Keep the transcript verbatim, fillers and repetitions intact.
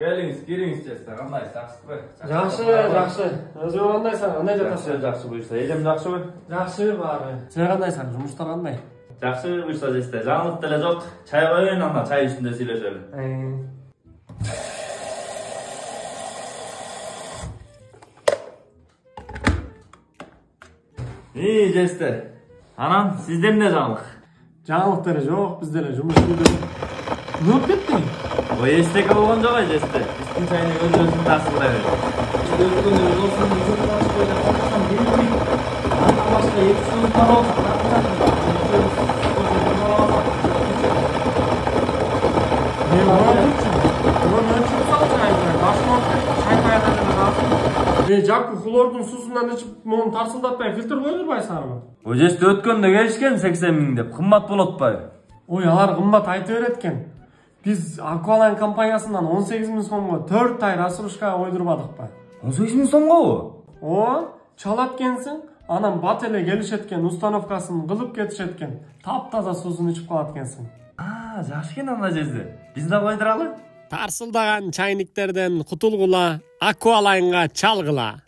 Келиңиz, кириңиz жеста. Кандайсыз, жакшысызбы? Жакшы, жакшы. Өзүң кандайсың? Кандай жатасың? Жакшы буюрса, элем жакшыбы? Жакшы баары. Сен кандайсың? Жумуштар кандай? Жакшы буюрса жеста. Жаңылык деле жок. Чай коюн, анда чай үстүндө сүйлөшөлү. И, жеста. Анан сизде эмне жаңылык? Жаңылык деле жок, биз деле жумуш жүрүп. Не болуп кетти? Ой, эчтеке болгон жок ай жеста. Биздин чайны өз-өзүн тасырлай бер. Өткөндө болсун, үчүн башка эле калсам билбейм. Андан башка эки сөз бар болсо, Не болду? Мына чыксаң чайга, башка чай кайда Э, Жаку хлордун суусунан ичип, муну тарсылдатпай фильтр кое турбайсыңарбы? Ой, жеста өткөндө келишкен сексен миң деп, кымбат болот атпайбы? Ой, алар кымбат айта берет экен. Биз Аквалайн компаниясынан он сегиз миң сомго төрт ай рассрочкага койдурбадыкпы? он сегиз миң сомгобу? О, чалат экенсиң. Анан бат эле келишет экен, установкасын кылып кетишет экен. Таптаза суусун ичип калат экенсиң. А, жакшы экен анда жерде. Биз да койдуралы. Тарсылдаган чайниктерден кутулгула, Аквалайнга чалгыла.